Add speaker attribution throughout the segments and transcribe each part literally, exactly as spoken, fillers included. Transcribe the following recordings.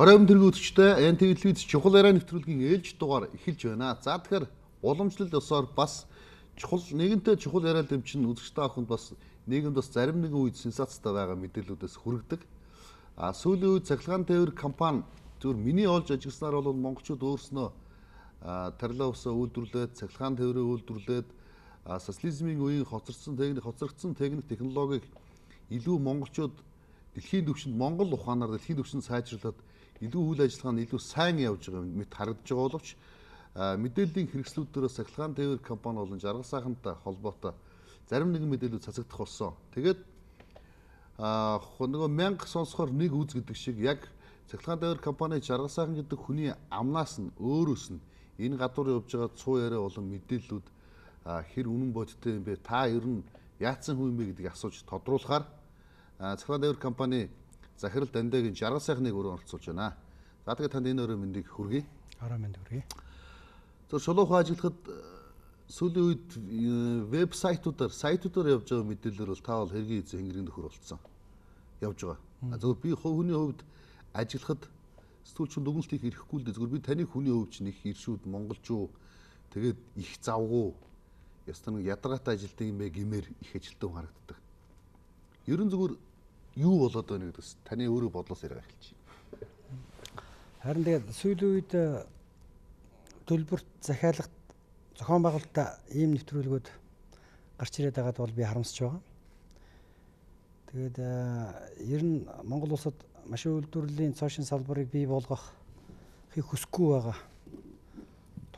Speaker 1: Оройн тэргүүтчтэй эн телевиз чухал яриа нэвтрүүлгийн ээлж дугаар эхэлж байна. За тэгэхээр уламжлал ёсоор бас чухал нэгэнтээ чухал яриа дэмчин үзэгчтэй ахынд бас нийгэмд бас зарим нэгэн үед сенсацтай байгаа мэдээллүүдээс хүргэдэг. А сүүлийн үед цахилгаан тээвэр компани зөвхөн миний олж ажигласнаар бол монголчууд өөрснөө тарилаа усаа үйлдвэрлээд цахилгаан тээврээ үйлдвэрлээд социализмын үеийн хоцорсон техник хоцрогдсон техник технологиг илүү монголчууд дэлхийн түвшинд монгол ухаанаар дэлхийн түвшинд сайжруулад илүү үйл ажиллагаа нь илүү сайн явж байгаа мэт харагдаж байгаа боловч мэдээллийн хэрэгслүүдээрээ цахилгаан тээвэр компани болон жаргал сайхантай холбоотой зарим нэгэн мэдээлүүд цацагдах болсон. Тэгээд а нөгөө мянга сонсохоор нэг үз гэдэг шиг яг цахилгаан тээвэр компани жаргал сайхан гэдэг хүний амнаас нь өөрөөс нь энэ гадуур явж байгаа цуу яриа болон мэдээллүүд хэр үнэн бодиттой юм бэ? Та ер нь яатсан хүн юм бэ гэдгийг асууж тодруулахаар цахилгаан тээвэр компани захирал Дандагийн жаргал сайхныг өрөө оролцуулж байна. За тэгээд танд энэ өрөө мэндийг хүргэе.
Speaker 2: Ороо мэнд хүргэе.
Speaker 1: зөв шулуухан ажиллахад сүүлийн үед вебсайтуудаар сайтуудаар явж байгаа мэдээлэлээр бол та бол хэргийн эзэн хэнгэрийн нөхөр болцсон. Явж байгаа. Зөв би хүний хувьд ажиллахад сэтгүүлчин дүгнэлт хийх эрхгүй л дээ. Зөв би таны хүний хувьд ч нэг иршүүд монголчуу тэгээд их завгүй ястаа нэг ядаргаатай ажилтдаг юм бэ гэмээр их ажилтдаг харагддаг. Ерөн зүгээр юу болоод байна гэдэгс таны өөрөө бодлоос яриа эхэлчих.
Speaker 2: Харин тэгээд сүүлийн үед төлбөрт захиалагт зохион байгуулалтаа ийм нэвтрүүлгүүд гарч ирээд байгаад бол би харамсаж байгаа. Тэгээд ер нь Монгол улсад машин үйлдвэрлэлийн цоошин салбарыг бий болгох хийг хүсэхгүй байгаа.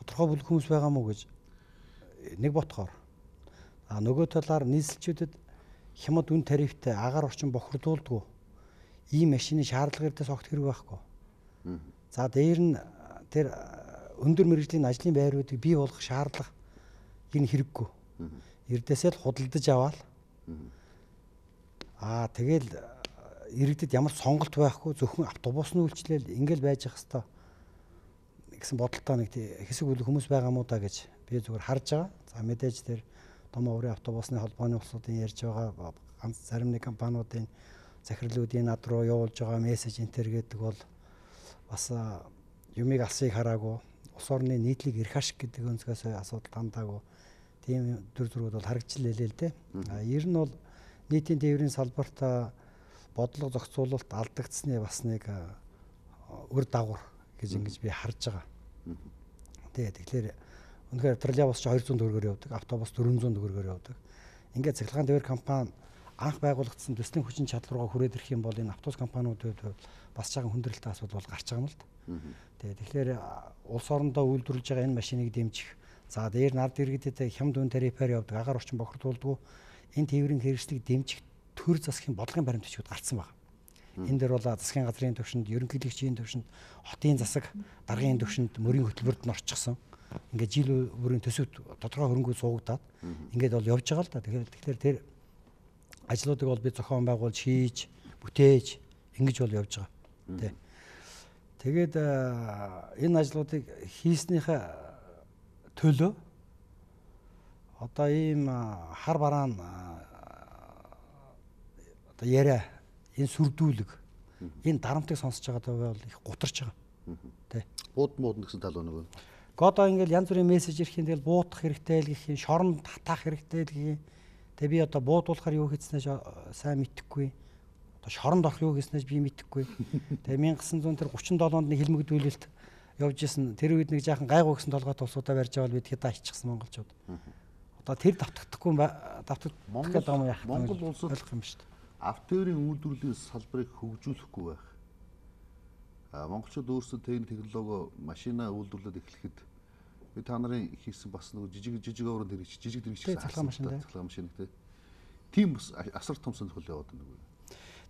Speaker 2: Тодорхой бүлэг хүмүүс байгаа мó гэж нэг ботхоор. А нөгөө талаар нийслэлчүүдэд хямд үн тарифтай агаар орчин бохирдуулдгүй ийм машины шаардлага ирдээс огт хэрэг байхгүй. За дээр нь тэр өндөр мэргэжлийн ажлын байруудыг бий болгох шаардлага энэ хэрэггүй. Ирдээсээ л худалдаж аваад аа тэгэл иргэдэд ямар сонголт байхгүй зөвхөн автобусны үйлчлэл ингээл байж ах хэвээр гэсэн бодолтой нэг хэсэг бүлэг хүмүүс байгаа мó та гэж би зүгээр харж байгаа. За мэдээж тэр том оврын автобусны холбооны улсуудын ярьж байгаа ганц зарим нэг компаниудын захирлуудын над руу явуулж байгаа мессеж энтер гэдэг бол бас юмыг алсыг хараагүй улс орны нийтлэг эрх ашиг гэдэг өнцгөөс асуудал хандаагүй тийм төр зургууд бол харагдчихлээ л дээ. А ер нь бол нийтийн тээврийн салбарт бодлого зохицуулалт алдагдсны бас нэг үр дагавар гэж ингэж би харж байгаа. Тэгээд тэгэхээр үнэхээр троллейбус ч хоёр зуун төгрөгөөр явдаг, автобус дөрвөн зуун төгрөгөөр явдаг. Ингээд цахилгаан тээвэр компани анх байгуулагдсан төслийн хүчин чадваргаа хүрээд ирэх юм бол энэ автобус компаниудад бас жаахан хүндрэлтэй асуудал бол гарч байгаа юм л да. Тэгээд тэгэхээр улс орондоо үйлдвэрлэж байгаа энэ машиныг дэмжих, за дээр нард иргэдэд хямд үн тарифаар явдаг, агаар орчин бохирдуулдгүй энэ тээврийн хэрэгслийг дэмжих төр засгийн бодлогын баримтчууд гарцсан байна. Энэ дээр бол засгийн газрын төвшөнд, ерөнхийлөгчийн төвшөнд, хотын засаг, даргын төвшөнд мөрийн хөтөлбөрт нь орчихсон. Ингээд жил бүрийн төсөвт тодорхой хөрөнгө суугдаад ингээд бол явж байгаа л да. Тэгэхээр тэгэхээр тэр ажлуудыг бол би зохион байгуулж, хийж, бүтээж ингэж бол явж байгаа. Тэ. Тэгээд энэ ажлуудыг хийснийхээ төлөө одоо ийм хар бараан одоо яриа энэ сүрдүүлэг энэ дарамтыг сонсож байгаа бол их гутарч байгаа. Тэ.
Speaker 1: Бууд мууд гэсэн тал байна уу?
Speaker 2: Одоо ингээл янз бүрийн мессеж ирэхин тэгэл буутах хэрэгтэй л гэх юм, шоронд татах хэрэгтэй л гэх юм. Тэгээ би одоо буудуулахаар юу хийснэж сайн мэдэхгүй. Одоо шоронд орох юу хийснэж би мэдэхгүй. Тэгээ 천ix хүн тэр гучин долоонд нэг хилмигдүүлэлт явж исэн. Тэр үед нэг жаахан гайгүй гэсэн толгой тулсуудаа барьж авал бид хэд аччихсан монголчууд. Одоо тэр давтагдахгүй давтагдах гэдэг юм яах вэ?
Speaker 1: Монгол улсад
Speaker 2: ойлгох юм шүү дээ.
Speaker 1: Автоэрийн үйлдвэрлэлийн салбарыг хөгжүүлэхгүй байх. А монголчууд өөрсдөө техник технологи машина үйлдвэрлээд эхлэхэд би та нарын хийсэн бас нэг жижиг жижиг орон дэрэгч жижиг дэрэгч
Speaker 2: цахилгаан машин
Speaker 1: цахилгаан машин гэдэг. Тийм бас асар том сонирхол яваад байна уу?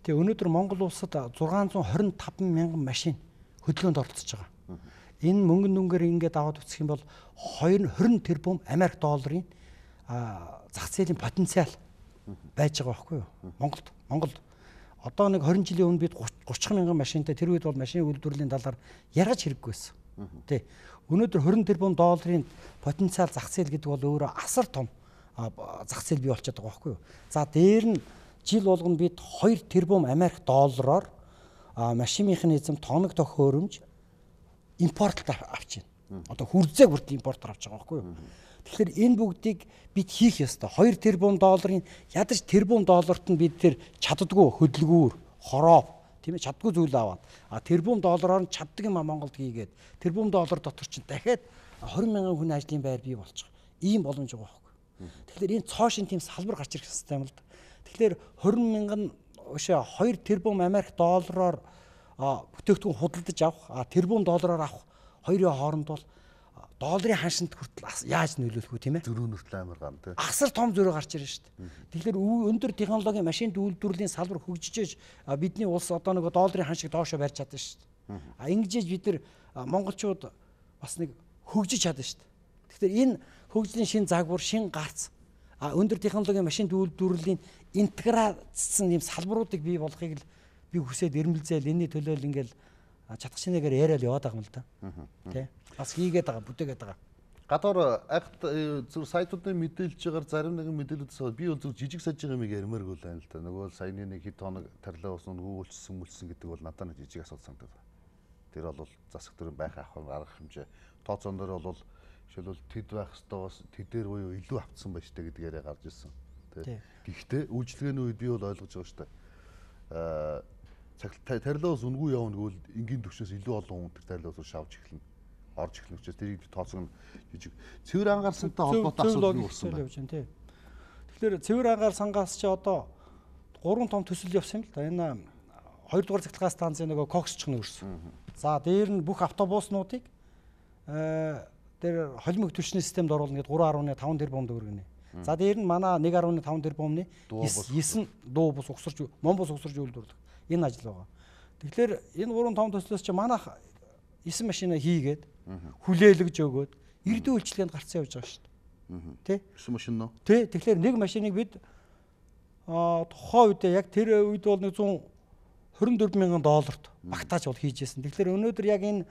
Speaker 2: Тэгээ өнөөдөр Монгол улсад зургаан зуун хорин таван мянган машин хөдөлгөөнд оролцож байгаа. Энэ мөнгөн дүнгээр ингээд аваад үсэх юм бол двадцать тэрбум Америк долларын зах зээлийн потенциал байж байгаа байхгүй юу? Монголд Монголд одоо нэг двадцать жилийн өмнө бид тридцать мянган машинтай тэр үед бол машины үйлдвэрлэлийн талаар яргаж хэрэггүй байсан. Тэ. Өнөөдөр двадцать тэрбум долларын потенциал зах зээл гэдэг бол өөрөө асар том зах зээл бий болчиход байгаа байхгүй юу? За дээр нь жил болгоно бид two тэрбум Америк доллараар машин механизм, тоног тохиоромж импортлоор авч байна. Одоо хүрзэг хүртэл импортоор авч байгаа байхгүй юу? Тэгэхээр энэ бүгдийг бид хийх ёстой. хоёр тэрбум долларын ядаж тэрбум долларт нь бид тэр чаддгүй хөдөлгүүр, хороо тийм ээ чаддгүй зүйл аваад а тэрбум доллараар нь чаддаг юм а Монголд хийгээд тэрбум доллар дотор чинь дахиад хорин мянган хүн ажлын байр бий болчих. Ийм боломж байгаа байхгүй. Тэгэхээр энэ цоошин тийм салбар гарч ирэх хэрэгтэй юм л да. Тэгэхээр хорин мянган ушаа хоёр тэрбум Америк доллараар бүтээгдэхүүн худалдаж авах, а тэрбум доллараар авах хоёрын хооронд бол долларын ханшинт хүртэл яаж нөлөөлөх вэ тийм ээ?
Speaker 1: Зөрүү нүртэл амар ган тийм.
Speaker 2: Асар том зөрөө гарч ирж шүү дээ. Тэгэхээр өндөр технологийн машин үйлдвэрлэлийн салбар хөгжиж бидний улс одоо нэг долларын ханшиг доошо барьж чадсан шүү дээ. А ингэж бид нар монголчууд бас нэг хөгжиж чадсан шүү дээ. Тэгэхээр энэ хөгжлийн шин загвар, шин гарц а өндөр технологийн машин үйлдвэрлэлийн интеграцсан юм салбаруудыг бий болгохыг л би хүсээд ирмэлзээл энэний төлөө л ингээл чадах шинэгээр яриад яваад байгаа юм л да. Тэ. Бас хийгээд байгаа, бүтээгээд байгаа.
Speaker 1: Гадаар агт зүр сайтуудын мэдээлж байгаа зарим нэгэн мэдээлүүдээс би бол зүр жижиг сажиг юм ярмаар гол байна л да. Нөгөө саяны нэг хэд хоног тарлаа усан нөгөөлчсөн мүлсэн гэдэг бол надад нэг жижиг асуудал санагдав. Тэр бол засаг төрийн байх авах арга хэмжээ. Тооцоон дээр бол жишээлбэл тэд байх хэвээр бас тэдээр буюу илүү автсан байж таа гэдгээрээ гарч ирсэн. Тэ. Гэхдээ үйлчлэгээний үед би бол ойлгож байгаа шүү дээ. Аа тарлаус үнгүй явна гэвэл энгийн төвчөөс илүү олон хүн тэр тарлаус шавж эхэлнэ. Орж эхлэх учраас тэрийг тооцоо жижиг цэвэр анхаарсантай холбоотой асуудал үүссэн байна. Тэгэхээр
Speaker 2: цэвэр ангаар сангаас чи одоо гурван том төсөл явсан юм л да. Энэ хоёрдугаар цахилгаан станцын нөгөө коксч нь өрсөн. За дээр нь бүх автобуснуудыг э дээр холимог түвшний системд оруулна гэдэг гурван гаруй таван тэрбум төгрөгнө. За дээр нь манай нэг гаруй таван тэрбумны девять дуу бус угсарч Монбус угсарч үйлдвэрлэх энэ ажил байгаа. Тэгэхээр энэ гурван том төслөөс чи манайх девять машина хийгээд хүлээлгэж өгөөд эрдэн үйлчлэгэнд гарцсан явж байгаа шүү дээ. Тэ?
Speaker 1: девять машин нөө.
Speaker 2: Тэ. Тэгэхээр нэг машиныг бид аа тухайн үед яг тэр үед бол нэг зуун хорин дөрвөн мянган долларт багтааж бол хийжсэн. Тэгэхээр өнөөдөр яг энэ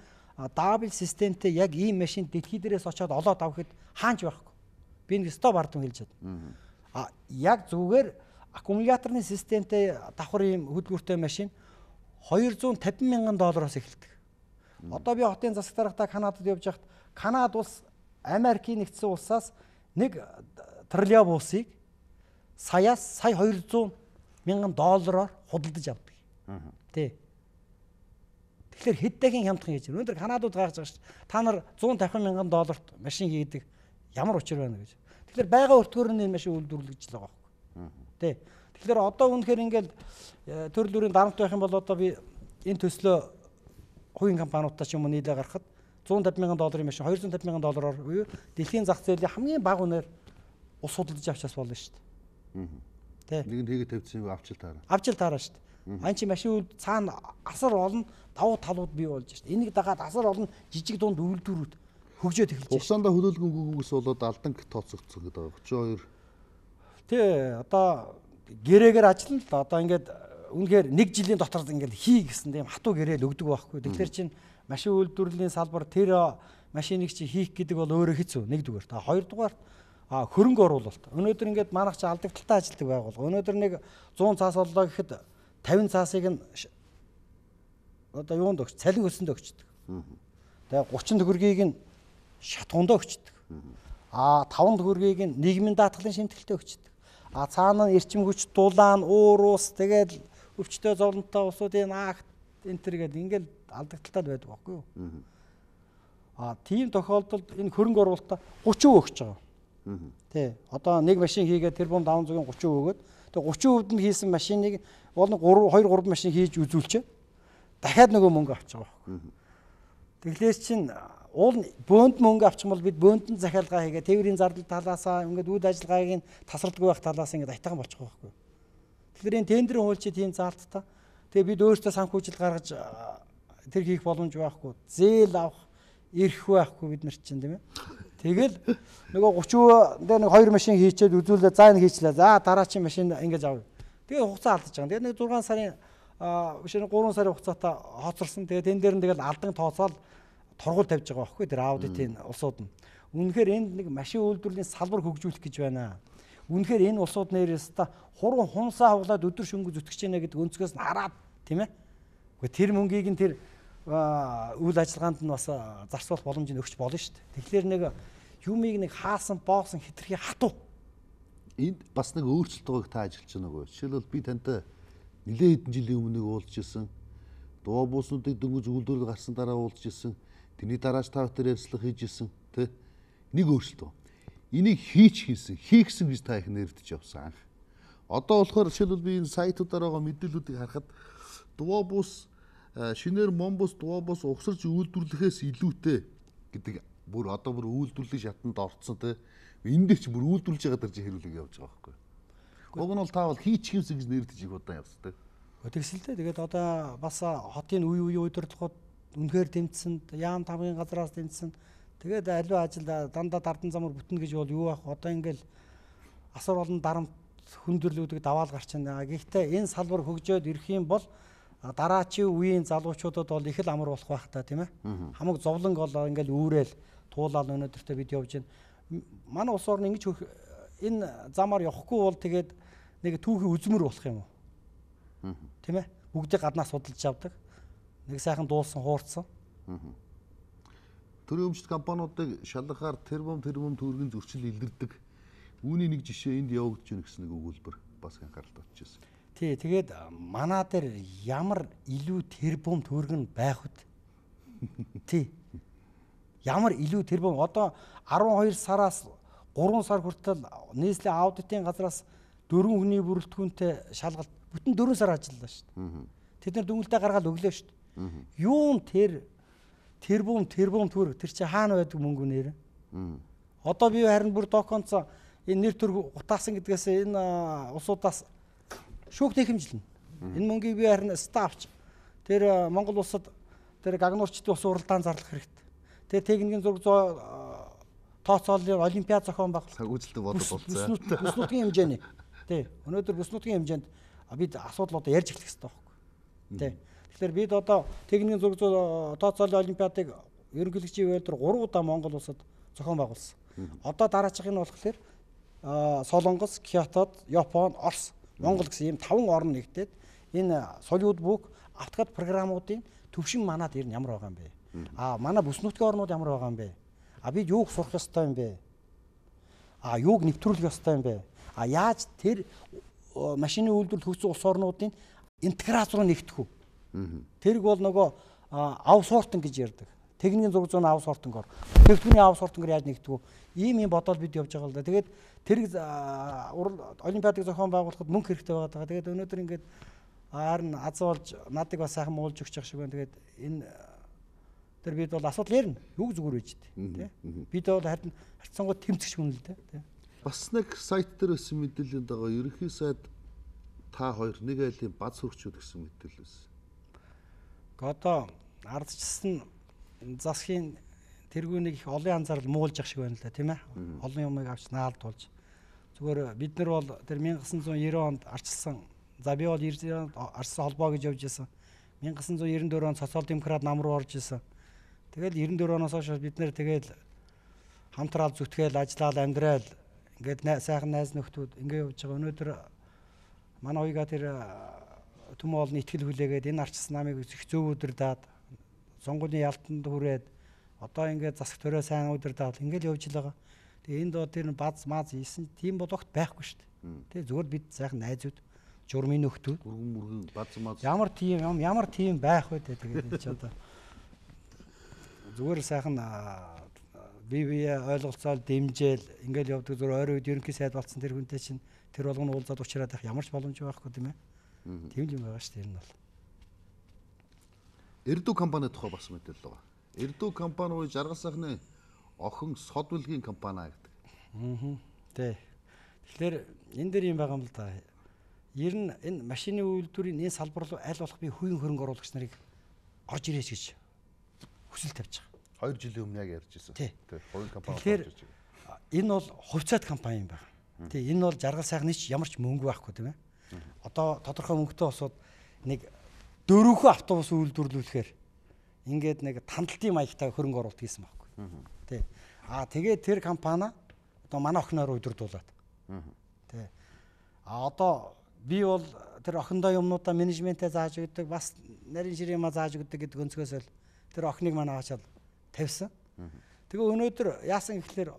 Speaker 2: дабл системтэй яг ийм машин дэлхий дээрээс очиод олоод авахд хаанч байхгүй. Би нэг стоп ардам хэлж чадна. А яг зүгээр аккумуляторны системтэй давхар ийм хөдөлгөөртэй машин хоёр зуун тавин мянган доллароос эхэлдэг. Одоо би хотын засаг дарагтаа Канадад явж байхад Канада улс Америкийн нэгдсэн улсаас нэг триллион буусыг саяас сая хоёр зуун мянган доллараар худалдаж авдаг. Тэ. Тэгэхээр хэд дахин хямдхан хийж байна. Өнөөдөр Канадууд гайхаж байгаа шүү дээ. Та нар зуун тавих мянган долларт машин хийдэг ямар учир байна гэж. Тэгэхээр байга өртгөөр нь энэ машин үйлдвэрлэж л байгаа байхгүй. Тэ. Тэгэхээр одоо үнэхээр ингээл төрөл бүрийн дарамт байх юм бол одоо би энэ төслөө хувийн компаниудтай ч юм уу нийлээ гаргахад зуун тавин мянган долларын машин хоёр зуун тавин мянган доллараар буюу дэлхийн зах зээлийн хамгийн бага үнээр ус судалж авчаас болно шүү дээ. Тэ.
Speaker 1: Нэг нь хийгээ тавьчихсан юм авчил таараа.
Speaker 2: Авчил таараа шүү дээ. Ан чи машин үл цаана асар олон давуу талууд бий болж шүү дээ. Энийг дагаад асар олон жижиг дунд үйлдвэрүүд хөгжөөд эхэлж байна.
Speaker 1: Угсаандаа хөлөөлгөнгүйгээс болоод алдан тооцогдсон гэдэг байгаа. тридцать хоёр.
Speaker 2: Тэ одоо гэрээгээр ажиллана л одоо ингээд үнэхээр нэг жилийн дотор ингээд хий гэсэн тийм хатуу гэрээл өгдөг байхгүй. Тэгэхээр чин машин үйлдвэрлэлийн салбар тэр машиныг чи хийх гэдэг бол өөрөө хэцүү нэгдүгээр. Та хоёрдугаар хөрөнгө оруулалт. Өнөөдөр ингээд манайх чи алдагдaltaй ажилладаг байгуулга. Өнөөдөр нэг зуун цаас боллоо гэхэд тавин цаасыг нь одоо юунд өгч цалин өсөнд өгчдөг. Тэгээ гучин төгрөгийг нь шатгуунд өгчдөг. А таван төгрөгийг нь нийгмийн даатгалын шимтгэлтэй өгчдөг. А цаана нь эрчим хүч дулаан уур ус тэгээд өвчтөе зовлонтой усуудын акт энэ төр гэдэг ингээл алдагдaltaд байдаг байхгүй юу? А тийм тохиолдолд энэ хөрөнгө оруулалтаа гучин өгч байгаа. Тэ. Одоо нэг машин хийгээд тэрбум даван зугийн гучин өгөөд тэгээ гучин өвд нь хийсэн машиныг бол хоёр гурван машин хийж үзүүлчээ. Дахиад нөгөө мөнгө авч байгаа байхгүй. Тэгэхээр чин уул бөөнд мөнгө авчих юм бол бид бөөнд нь захиалга хийгээ тээврийн зардал талаасаа ингээд үйл ажиллагааг нь тасралтгүй байх талаас ингээд айтайхан болчих байхгүй. Тэгэхээр энэ тендерийн хууль чи тийм заалттай. Тэгээ бид өөрсдөө санхүүжил гаргаж тэр хийх боломж байхгүй. Зээл авах, ирэх байхгүй бид нар чинь тийм ээ. Тэгэл нөгөө гучин дээр нэг хоёр машин хийчээд үзүүлээ за энэ хийчлээ. За дараа чи машин ингэж авъя. Тэгээ хугацаа алдаж байгаа. Тэгээ нэг зургаан сарын биш нэг гурван сарын хугацаатай хоцорсон. Тэгээ тэн дээр нь тэгэл алдан тооцоол торгуул тавьж байгаа байхгүй тэр аудитын улсууд нь. Үнэхээр энд нэг машин үйлдвэрлэлийн салбар хөгжүүлэх гэж байна. Үнэхээр энэ улсууд нэрээс та хуран хунсаа хуглаад өдөр шөнөгүй зүтгэж байна гэдэг өнцгөөс нь хараад тийм ээ. Гэхдээ тэр мөнгийг нь тэр үйл ажиллагаанд нь бас зарцуулах боломжийг өгч болно шүү дээ. Тэгэхээр нэг юмыг нэг хаасан боосон хитрхи хатуу.
Speaker 1: Энд бас нэг өөрчлөлт байгааг та ажиллаж байна уу? Жишээлбэл би тантай нэлээд хэдэн жилийн өмнө уулзж ирсэн. Дуу бууснуудыг дөнгөж үйлдвэрлэл гарсан дараа уулзж ирсэн. Тэрний дарааж та бүхэн ярьцлага хийж ирсэн. Тэ? Нэг өөрчлөлт байна. Энийг хийч хийсэн, хийгсэн гэж та их нэрвдэж явсан анх. Одоо болохоор жишээлбэл би энэ сайтуудаар байгаа мэдээллүүдийг харахад дуу буус шинээр момбус дуу буус угсарч үйлдвэрлэхээс илүүтэй гэдэг бүр одоо бүр үйлдвэрлэлийн шатанд орцсон те. Энд дээр ч бүр үйлдвэрлэж байгаа дэрж хэрүүлэг явж байгаа байхгүй. Уг нь бол та бол хийч хийсэн гэж нэрвдэж их удаан явсан те.
Speaker 2: Тэгсэлтэй тэгээд одоо бас хотын үе үе удирдлагууд үнэхээр тэмцсэн, яам тамгын газраас тэмцсэн. Тэгээд аливаа ажил дандаа дардан замаар бүтнэ гэж бол юу байх. Одоо ингээл асар олон дарамт хүндрэлүүдийг даваал гарч байна. Гэхдээ энэ салбар хөгжөөд ирэх юм бол дараачийн үеийн залуучуудад бол их л амар болох байх та тийм ээ. Хамаг зовлон гол ингээл үүрэл туулаад өнөөдөртөө бид явж байна. Манай улс орны ингэж энэ замаар явахгүй бол тэгээд нэг түүхий үзмэр болох юм уу? Тийм ээ. Бүгдийг гаднаас судалж авдаг. Нэг сайхан дуулсан хуурцсан.
Speaker 1: Төрийн өмчт компаниудыг шалгахаар тэрбум тэрбум төгрөгийн зөрчил илэрдэг. Үүний нэг жишээ энд явагдаж байна гэсэн нэг өгүүлбэр бас анхаарал татчихсан.
Speaker 2: Тий, тэгээд манаа дээр ямар илүү тэрбум төгрөг нь байх вэ? Тий. Ямар илүү тэрбум одоо арван хоёр сараас гурван сар хүртэл нийслэлийн аудитын газраас дөрвөн хүний бүрэлдэхүүнтэй шалгалт бүтэн дөрвөн сар ажиллалаа шүү дээ. Тэд нар дүнэлтээ гаргаад өглөө шүү дээ. Юун тэр тэрбум тэрбум төгрөг тэр чи хаана байдаг мөнгө нэр? Одоо би харин бүр доконц энэ нэр төр утаасан гэдгээс энэ улсуудаас шүүх техэмжилнэ. Энэ мөнгийг би харин стафч тэр Монгол улсад тэр гагнуурчдын ус уралдаан зарлах хэрэгтэй. Тэр техникийн зураг тооцооллын олимпиад зохион байгуулалт.
Speaker 1: Санхүүжилтөд бодод болцсон.
Speaker 2: Бүс нутгийн хэмжээний. Тий. Өнөөдөр бүс нутгийн хэмжээнд бид асуудал одоо ярьж эхлэх хэрэгтэй байхгүй. Тий. Тэгэхээр бид одоо техникийн зураг тооцооллын олимпиадыг ерөнхийлөгчийн байдлаар гурван удаа Монгол улсад зохион байгуулсан. Одоо дараачих нь болохоор Солонгос, Киотод, Япон, Орос, Монгол гэсэн ийм таван орн нэгдээд энэ солиуд бүк автогад програмуудын төвшин манад ер нь ямар байгаа юм бэ? А манай бүс нутгийн орнууд ямар байгаа юм бэ? А бид юуг сурах ёстой юм бэ? А юуг нэвтрүүлэх ёстой юм бэ? А яаж тэр машины үйлдвэрлэл хөгжсөн улс орнуудын интеграц руу нэгдэх үү? Тэрг бол нөгөө аутсортинг гэж ярьдаг. Техникийн зураг зүүн аутсортингоор, техникийн аутсортингоор яаж нэгдэх үү? Ийм юм бодоод бид явж байгаа л да. Тэгээд тэрг олимпиадыг зохион байгуулахад мөнгө хэрэгтэй байгаа. Тэгээд өнөөдөр ингээд харин азуулж надыг бас сайхан муулж өгч явах шиг байна. Тэгээд энэ тэр бид бол асуудал ярина. Юг зүгээр байж тээ. Бид бол харин харьцангуй тэмцэх хүн л дээ.
Speaker 1: Бас нэг сайт дээр өссөн мэдээлэлд байгаа. Ерөнхий сайд та хоёр нэг айлын баз хөрчүүд гэсэн мэдээлэл өссөн.
Speaker 2: Одоо ардчсан засгийн тэргүүнийг их олон анзаарал муулж ах шиг байна л да тийм ээ. Олон юмыг авч наалдуулж. Зүгээр бид нар бол тэр 천ix девяносто онд арчилсан. За би бол девяносто онд арчсан холбоо гэж явж исэн. 천ix девяносто дөрвөн онд социал демократ нам руу орж исэн. Тэгэл девяносто дөрвөн оноос хойш бид нэр тэгэл хамтраал зүтгээл ажиллаал амьдрал ингээд сайхан найз нөхдүүд ингээд явж байгаа. Өнөөдөр манай уяга тэр төмөө олон итгэл хүлээгээд энэ арчсан намыг их зөв өдөрдаад сонгуулийн ялтанд хүрээд одоо ингээд засаг төрөө сайн өдөрдаад ингээд явж байгаа. Тэгээ энд доо тэр баз маз ийсэн тийм болохт байхгүй шүү дээ. Тэгээ зүгээр бид сайхан найзууд журмын нөхдүүд
Speaker 1: өргөн мөргөн баз маз
Speaker 2: ямар тийм ямар тийм байх вэ тэгээд энэ ч одоо зүгээр сайхан бие бие ойлголцоол дэмжээл ингээл явдаг зүгээр ойрын үед ерөнхий сайд болсон тэр хүнтэй чинь тэр болгоно уулзаад уучраад байх ямар ч боломж байхгүй тийм ээ. Тийм л юм байгаа шүү дээ энэ бол.
Speaker 1: Эрдүү компани тухай бас мэдээлэл байгаа. Эрдүү компани уу жаргал сайхны охин сод бүлгийн компани гэдэг.
Speaker 2: Аа. Тэ. Тэгэхээр энэ дээр юм байгаа юм л да. Ер нь энэ машины үйлдвэрийн энэ салбар руу аль болох би хувийн хөрөнгө оруулагч нарыг орж ирээч гэж хүсэл тавьж байгаа.
Speaker 1: хоёр жилийн өмнө яг ярьж ирсэн.
Speaker 2: Тий.
Speaker 1: Хувийн компани орж
Speaker 2: ирж
Speaker 1: байгаа.
Speaker 2: Энэ бол хувьцаат компани юм байна. Тий. Энэ бол жаргал сайхны ч ямар ч мөнгө байхгүй тийм ээ. Одоо тодорхой мөнгөтэй босоод нэг дөрөвхөн автобус үйлдвэрлүүлэхээр ингээд нэг тандалтын маягтай хөрөнгө оруулалт хийсэн байхгүй. Тий. Аа тэгээд тэр компани одоо манай охиноор удирдуулаад. Тий. А одоо би бол тэр охиндоо юмнуудаа менежментээ зааж өгдөг, бас нарийн ширээ юм зааж өгдөг гэдэг өнцгөөс л тэр охиныг манай хаачаал тавьсан. Тэгээ өнөөдөр яасан гэхэлэр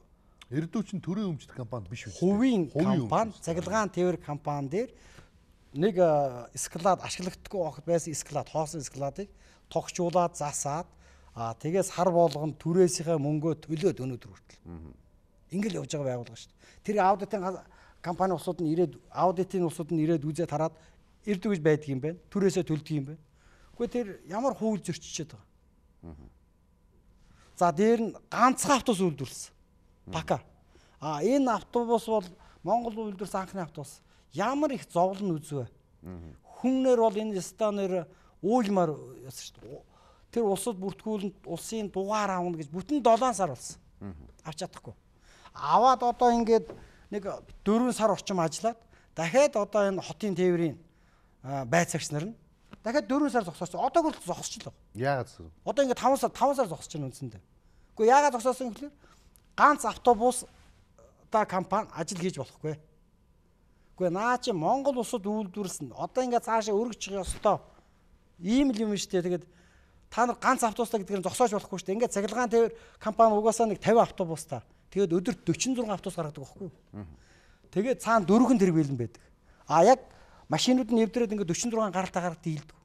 Speaker 1: Эрдүүчин төрийн өмчт компани биш үү?
Speaker 2: Хувийн компани, цахилгаан тээвэр компани дээр нэг склад ашиглагдахгүй огт байсан склад, хоосон складыг тогтчуулаад засаад аа тэгээс хар болгонд түрээсийнхээ мөнгөө төлөөд өнөөдөр хүртэл. Ингээл явж байгаа байгууллага шүү дээ. Тэр аудитын компани усууд нь ирээд аудитын усууд нь ирээд үзээд хараад ирдэг гэж байдаг юм байна. Түрээсээ төлдөг юм байна. Гэхдээ тэр ямар хууль зөрчиж байгаа. За дээр нь ганцхан автобус үйлдвэрлэсэн. Бака. А энэ автобус бол Монгол үйлдвэрсэн анхны автобус. Ямар их зовлон үзвэ. Хүннэр бол энэ станаар уйлмаар яасан шүү дээ. Тэр улсад бүртгүүлэнд улсын дугаар аавна гэж бүтэн долоон сар болсон. Авч чадахгүй. Аваад одоо ингээд нэг дөрвөн сар орчим ажиллаад дахиад одоо энэ хотын тээврийн байцаагч нар нь дахиад дөрвөн сар зогсооч. Одоо хүртэл зогсчихлоо.
Speaker 1: Яагаад гэсэн?
Speaker 2: Одоо ингээд таван сар таван сар зогсож байна үндсэндээ. Гэхдээ яагаад зогсоосон гэхээр ганц автобус та компани ажил хийж болохгүй. Гэхдээ наа чи Монгол улсад үйлдвэрлэсэн. Одоо ингээд цаашаа өргөж ёстой. Ийм л юм шүү дээ. Тэгээд та нар ганц автобустай гэдгээр нь зогсоож болохгүй шүү дээ. Ингээд цахилгаан тээвэр компани угаасаа нэг тавин автобустай. Тэгээд өдөрт дөрвөн зургаан автобус гаргадаг байхгүй юу? Тэгээд цаана дөрвөн тэрбэлэн байдаг. А яг машинууд нь нэвдрээд ингээд дөрвөн зургаан гаралтай гараад дийлдэг.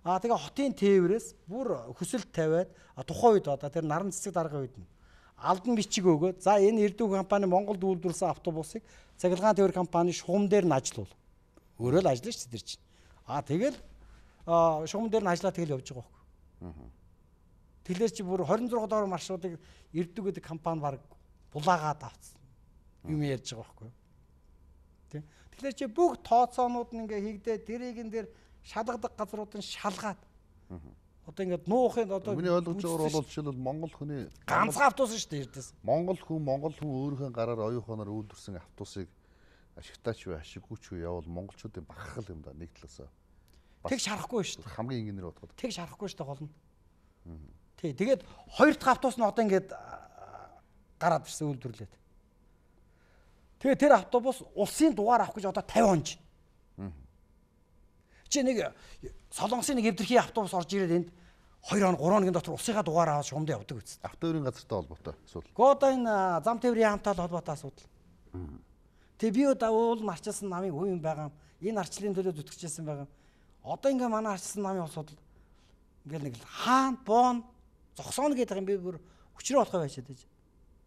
Speaker 2: А тэгээ хотын тээврээс бүр хүсэлт тавиад тухайн үед одоо тэр наран цэцэг даргын үед нь алдан бичиг өгөөд за энэ Эрдүү компани Монголд үйлдвэрлэсэн автобусыг цахилгаан тээвэр компани шугам дээр нь ажиллуул. Өөрөө л ажиллаж ч тэр чинь. А тэгэл шугам дээр нь ажиллаа тэгэл явж байгаа байхгүй. Тэгэхээр чи бүр двадцать шесть доор маршрутыг Эрдүү гэдэг компани баг булаагаад авцсан. Юм ярьж байгаа байхгүй. Тэ. Тэгэхээр чи бүх тооцоонууд нь ингээ хийгдээ тэрийг эн дээр шалгадаг газруудын шалгаад. Одоо ингээд нуухын одоо
Speaker 1: миний ойлгож байгаагаар бол жишээлбэл Монгол хүний
Speaker 2: ганцхан автобус шүү дээ эрдээс.
Speaker 1: Монгол хүн Монгол хүн өөрийнхөө гараар оюуханаар үйлдвэрсэн автобусыг ашигтаач вэ, ашиггүйч вэ явал монголчуудын багхал юм да нэг талаасаа.
Speaker 2: Тэг шарахгүй шүү дээ.
Speaker 1: Хамгийн энгийнээр бодоход.
Speaker 2: Тэг шарахгүй шүү дээ гол нь. Тий, тэгээд хоёр дахь автобус нь одоо ингээд гараад ирсэн үйлдвэрлээд. Тэгээ тэр автобус улсын дугаар авах гэж одоо тавин он чинь. Чи нэг Солонгосын нэг эвдэрхий автобус орж ирээд энд хоёр он гурван хоногийн дотор улсынхаа дугаар аваад шугамд явдаг үст.
Speaker 1: Автоөрийн газартай холбоотой асуудал.
Speaker 2: Гэхдээ одоо энэ зам тээврийн яамтай холбоотой асуудал. Тэгээ би одоо уул марчилсан намын үе юм байгаа юм. Энэ арчлалын төлөө зүтгэжсэн байгаа юм. Одоо ингээ манай арчилсан намын асуудал ингээл нэг хаан боон зогсооно гэдэг юм би бүр хүчрээ болохоо байшаад байж.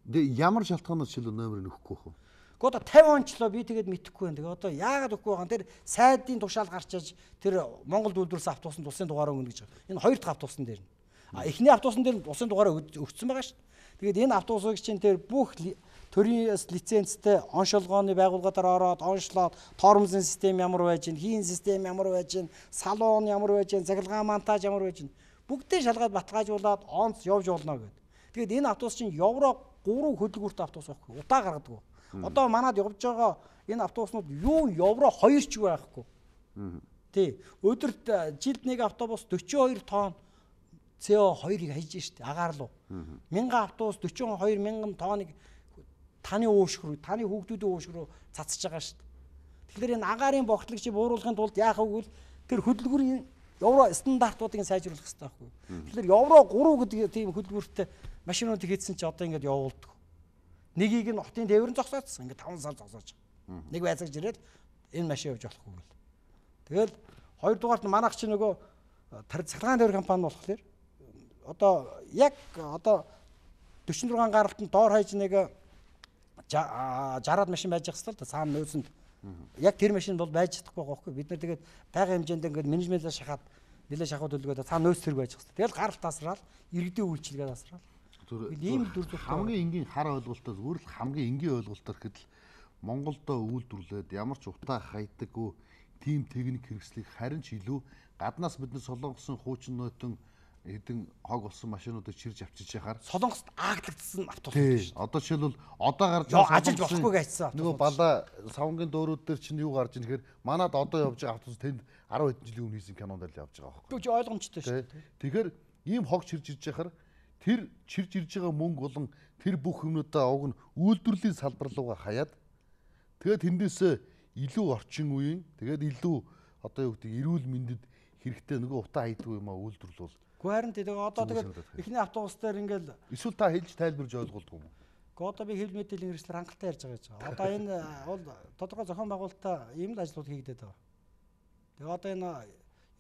Speaker 1: Тэгээ ямар шалтгаанаас жишээлбэл номерыг нөхгүй байх вэ?
Speaker 2: Гэхдээ одоо тавин ончлоо би тэгээд мэдэхгүй байна. Тэгээ одоо яагаад өгөхгүй байгаа юм? Тэр сайдын тушаал гарч иж тэр Монголд үйлдвэрлэсэн автобусанд улсын дугаараа өгнө гэж байгаа. Энэ хоёр дахь автобусан дээр нь. А эхний автобусан дээр улсын дугаараа өгсөн байгаа шүү дээ. Тэгээд энэ автобусыг чинь тэр бүх төрийн лицензтэй оншилгооны байгууллагуудаар ороод оншлоод тоормзын систем ямар байж гин, хийн систем ямар байж гин, салон ямар байж гин, цахилгаан монтаж ямар байж гин бүгдээ шалгаад баталгаажуулаад онц явж болно гэд. Тэгээд энэ автобус чинь евро гурван хөдөлгөөрт автобус байхгүй. Удаа гаргадаг. Одоо манад явж байгаа энэ автобуснууд юу евро хоёр ч байхгүй. Тий. Өдөрт жилд нэг автобус forty-two тонн си о two-ыг хайж штэ агаар руу. Мянган автобус forty-two мянган тонныг таны уушг руу, таны хүүхдүүдийн уушг руу цацж байгаа штэ. Тэгэхээр энэ агаарын богтлогчийг бууруулахын тулд яах вэ гэвэл тэр хөдөлгөөрийн евро стандартуудыг сайжруулах хэрэгтэй байхгүй. Тэгэхээр евро three гэдэг тийм хөдөлгөөртэй машинууд хийсэн чи одоо ингэж явуулдаг. Нэгийг нь хотын тээвэр нь зогсоодсон. Ингээд таван сар зогсоож байгаа. Нэг байцаагч ирээд энэ машин явж болохгүй гэл. Тэгэл хоёрдугаарт нь манайх чи нөгөө цахилгаан тээвэр компани болохоор одоо яг одоо forty-six гаралтанд доор хаяж нэг sixty машин байж байгаа хэвээр цаана нөөцөнд яг тэр машин бол байж чадахгүй байгаа байхгүй. Бид нар тэгээд байгаль хэмжээнд ингээд менежментлээ шахаад нэлээ шахуу төлгөөд цаана нөөц зэрэг байж байгаа хэвээр. Тэгэл гаралт тасраал, иргэдийн үйлчилгээ тасраал. Ийм дүр зураг
Speaker 1: хамгийн энгийн хар ойлголтоос өөр л хамгийн энгийн ойлголтоор гэхэд л Монголдо үйлдвэрлээд ямар ч утаа хайдаггүй тийм техник хэрэгслийг харин ч илүү гаднаас бид нар солонгосын хуучин нойтон хэдэн хог болсон машинуудыг чирж авчиж яхаар
Speaker 2: Солонгост ааглагдсан автобус шүү дээ.
Speaker 1: Одоо жишээлбэл одоо гарч
Speaker 2: байгаа ажиллаж болохгүй гэсэн.
Speaker 1: Нөгөө бала савнгийн дөөрүүд дээр чинь юу гарч ийн гэхээр манад одоо явж байгаа автобус тэнд ten хэдэн жилийн өмнө хийсэн кинонд л явж байгаа байхгүй.
Speaker 2: Түг ойлгомжтой шүү дээ.
Speaker 1: Тэгэхээр ийм хог чирж ирж яхаар тэр чирж ирж байгаа мөнгө болон тэр бүх юмнуудаа уг нь үйлдвэрлэлийн салбар руугаа хаяад тэгээд тэндээсээ илүү орчин үеийн тэгээд илүү одоо юу гэдэг эрүүл мэндэд хэрэгтэй нөгөө утаа хайдгүй юм а үйлдвэрлэл.
Speaker 2: Гэхдээ харин тэгээ одоо тэгээд эхний автобус дээр ингээл
Speaker 1: эсвэл та хэлж тайлбарж ойлгуулдаг юм уу?
Speaker 2: Гэхдээ одоо би хэвлэл мэдээллийн хэрэгслэр хангалттай ярьж байгаа гэж байгаа. Одоо энэ бол тодорхой зохион байгуулалтаа ийм л ажлууд хийгдээд байгаа. Тэгээ одоо энэ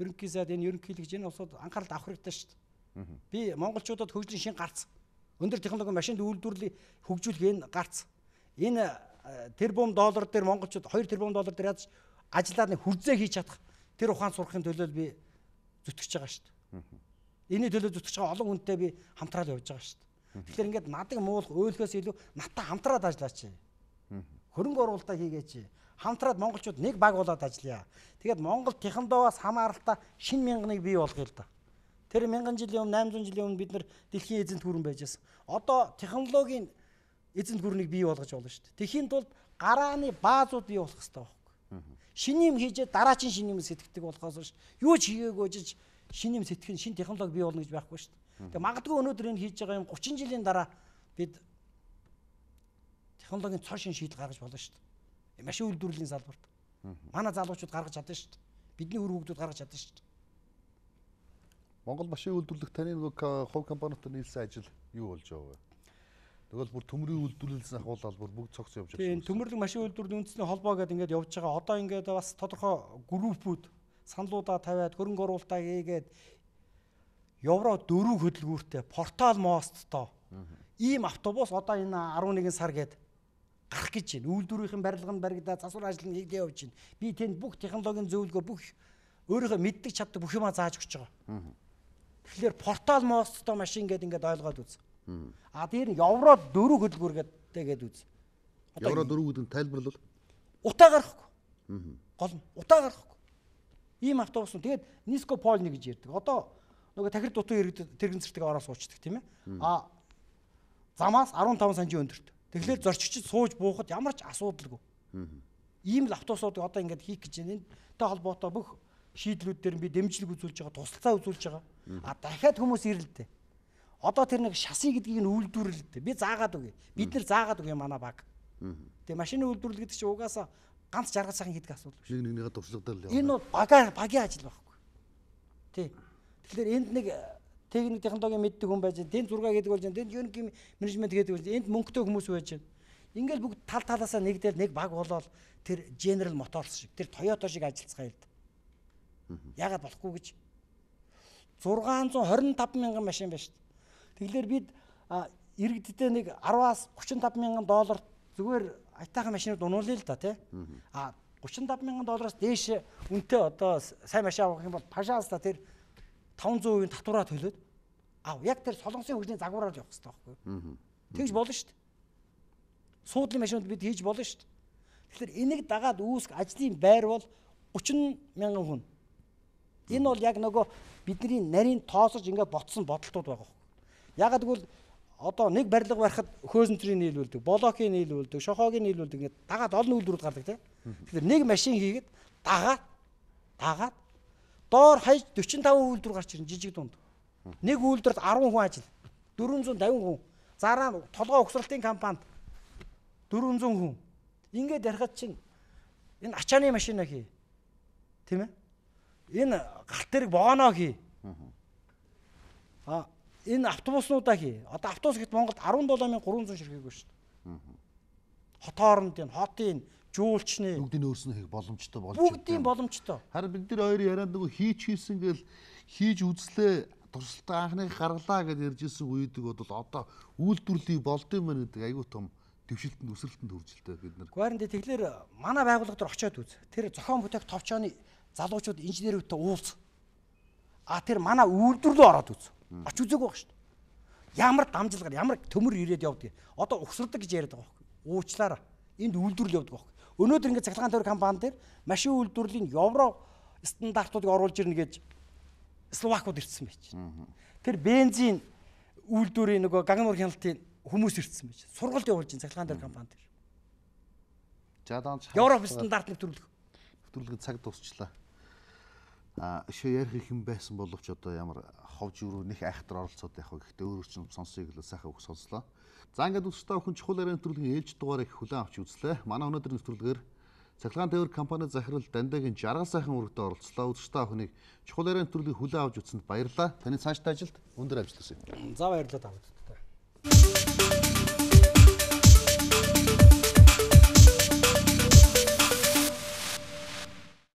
Speaker 2: ерөнхий сайд энэ ерөнхийлөгч энэ усууд анхаарал авах хэрэгтэй шүү дээ. Би монголчуудад хөгжлийн шин гарц. Өндөр технологийн машинд үйлдвэрлэлийг хөгжүүлэх энэ гарц. Энэ тэрбум доллар дээр монголчууд хоёр тэрбум доллар дээр яаж ажиллаад нэг хүрзээ хийж чадах тэр ухаан сурахын төлөө би зүтгэж байгаа шүү дээ. Энийн төлөө зүтгэж байгаа олон хүнтэй би хамтраад явж байгаа шүү дээ. Тэгэхээр ингээд надыг муулах өөлхөөс илүү надтай хамтраад ажиллаач. Хөрөнгө оруулалтаа хийгээч. Хамтраад монголчууд нэг баг болоод ажиллая. Тэгээд Монгол технологиос хамааралтай шинэ мянганыг бий болгоё л да. Тэр мянган жилийн өмнө найман зуун жилийн өмнө бид нар дэлхийн эзэнт гүрэн байжсэн. Одоо технологийн эзэнт гүрнийг бий болгож болно шүү дээ. Тэхийн тулд гарааны баазууд бий болох хэрэгтэй байхгүй. Шинэ юм хийжээ дараагийн шинэ юм сэтгэдэг болохоос биш. Юу ч хийгээгүй жиж шинэ юм сэтгэх шинэ технологи бий болно гэж байхгүй шүү дээ. Тэгээ магадгүй өнөөдөр энэ хийж байгаа юм гучин жилийн дараа бид технологийн цоо шин шийдэл гаргаж болно шүү дээ. Машин үйлдвэрлэлийн салбарт. Манай залуучууд гаргаж чадсан шүү дээ. Бидний үр хөвгүүд гаргаж чадсан шүү дээ.
Speaker 1: Монгол машин үйлдвэрлэх таны нөгөө хувь компанитай нийлсэн ажил юу болж байгаа вэ? Тэгвэл бүр төмрийн үйлдвэрлэлээс ахуулаад бүр бүгд цогц явж байгаа.
Speaker 2: Тийм, төмөрлөг машин үйлдвэрлэлийн үндэсний холбоо гэдэг ингээд явж байгаа. Одоо ингээд бас тодорхой группүүд саналуудаа тавиад хөрөнгө оруулалтаа хийгээд евро дөрөв хөдөлгүүртэй портал мосттой ийм автобус одоо энэ арван нэгэн сар гээд гарах гэж байна. Үйлдвэрийн барилга нь баригдаад засвар ажил нь хийгдээ явж байна. Би тэнд бүх технологийн зөвлөгөө бүх өөрийнхөө мэддэг чаддаг бүх юмаа зааж өгч байгаа. Тэгэхээр портал мосттой машин гээд ингээд ойлгоод үз. А дээр нь евро дөрөв хөдөлгүүр гэдэг үз.
Speaker 1: Евро дөрөв гэдэг нь тайлбарлал
Speaker 2: утаа гарахгүй. Гол нь утаа гарахгүй. Ийм автобус нь тэгээд Ниско Полни гэж ярьдаг. Одоо нөгөө тахир дутуу иргэд тэрэгэн цэртэг ороо суучдаг тийм ээ. А замаас арван таван санжийн өндөрт. Тэгэхээр зорчигчд сууж буухад ямар ч асуудалгүй. Ийм л автобусуудыг одоо ингээд хийх гэж байна. Энэтэй холбоотой бүх шийдлүүд дээр би дэмжлэг үзүүлж байгаа, тусалцаа үзүүлж байгаа. А дахиад хүмүүс ирэлтэй. Одоо тэр нэг шаси гэдгийг нь үйлдвэрлэлтэй. Би заагаад өгье. Бид нэр заагаад өгье манай баг. Тэгээ машины үйлдвэрлэл гэдэг чинь угаасаа ганц жаргал сайхан хийдэг асуудал биш.
Speaker 1: Нэг нэгнийгээ туршлагатай л
Speaker 2: явна. Энэ бол багаар багийн ажил байхгүй. Тий. Тэгэхээр энд нэг техник технологийн мэддэг хүн байж, тэнд зураг гэдэг болж, тэнд ерөнхий менежмент гэдэг болж, энд мөнгөтэй хүмүүс байж байна. Ингээл бүгд тал талаасаа нэгдэл нэг баг болоод тэр General Motors шиг, тэр Toyota шиг ажиллацгаая л да. Яагаад болохгүй гэж зургаан зуун хорин таван мянган машин байна шүү дээ. Тэгэхээр бид иргэддээ нэг араваас гучин таван мянган доллар зүгээр айтаахан машинууд унуулъя л да тий. А гучин таван мянган доллараас дээш үнэтэй одоо сайн машин авах юм бол пашаалста тэр таван зуун хувийн татвараа төлөөд аа яг тэр солонгосын хөгжлийн загвараар явах хэрэгтэй байхгүй. Тэгж болно шүү дээ. Суудлын машинууд бид хийж болно шүү дээ. Тэгэхээр энийг дагаад үүсэх ажлын байр бол гучин мянган хүн. Энэ бол яг нөгөө бидний нарийн тоосож ингээд ботсон бодолтууд байгаа байхгүй. Ягаад гэвэл одоо нэг барилга барихад хөөсөнтрийн нийлүүлдэг, блокийн нийлүүлдэг, шохоогийн нийлүүлдэг ингээд дагаад олон үйлдвэрүүд гардаг тийм. Тэгэхээр нэг машин хийгээд дагаад дагаад доор хаяж дөрвөн таван үйлдвэр гарч ирнэ жижиг дунд. Нэг үйлдвэрт арван хүн ажил. дөрвөн зуун тавин хүн. Зараа толгой угсралтын компанид дөрвөн зуун хүн. Ингээд ярихад чинь энэ ачааны машина хий. Тийм ээ? Энэ галт тэрэг богоно хий. А энэ автобуснуудаа хий. Одоо автобус гэт Монголд арван долоо мянган гурван зуун ширхэггүй шүү дээ. Хот хооронд энэ хотын жуулчны
Speaker 1: бүгдийн өөрснөө хийх боломжтой болж
Speaker 2: байна. Бүгдийн боломжтой.
Speaker 1: Харин бид нар хоёр яриад нөгөө хийж хийсэн гэл хийж үзлээ туршилтаа анхныг гаргалаа гэж ярьж ирсэн үедэг бол одоо үйлдвэрлэлийг болдсон мэн гэдэг айгүй том дэвшилтэнд өсрэлтэнд хүрчилтэй бид нар.
Speaker 2: Гуайранд тэгэхээр манай байгууллага дээр очиод үз. Тэр зохион бүтээх товчооны залуучууд инженерүүдтэй уулз. А тэр манай үйлдвэрлэлөө ороод үз. Оч үзээгүй байх шүү дээ. Ямар дамжлагаар ямар төмөр ирээд явдаг. Одоо угсардаг гэж яриад байгаа байхгүй. Уучлаарай. Энд үйлдвэрлэл явдаг байхгүй. Өнөөдөр ингээд цахилгаан тойрог компани дээр машин үйлдвэрлэлийн евро стандартуудыг оруулж ирнэ гэж Словакууд ирсэн байж. Тэр бензин үйлдвэрийн нөгөө гагнуур хяналтын хүмүүс ирсэн байж. Сургалт явуулж ин цахилгаан тойрог компани дээр.
Speaker 1: Жадаанч
Speaker 2: Европ стандарт нэвтрүүлэх.
Speaker 1: Нэвтрүүлгийн цаг дуусчлаа. А шээ ярих их юм байсан боловч одоо ямар ховж өрөө нэг айхтар оролцоод байх вэ гэхдээ өөр чинь сонсъё гэлээ сайхан үг сонслоо. За ингээд үстэй охин чухал ярианы нэвтрүүлгийн ээлж дугаарыг хүлээн авч үзлээ. Манай өнөөдрийн нэвтрүүлгээр Цахилгаан тээвэр компани захирал Дандагийн жаргал сайхан үүрэгтээ оролцлоо. Үзэгчтэй охиныг чухал ярианы нэвтрүүлгийг хүлээн авч үзсэнд баярлалаа. Таны цаашдаа ажилд өндөр амжилт хүсье.
Speaker 2: За баярлалаа та бүхэнд.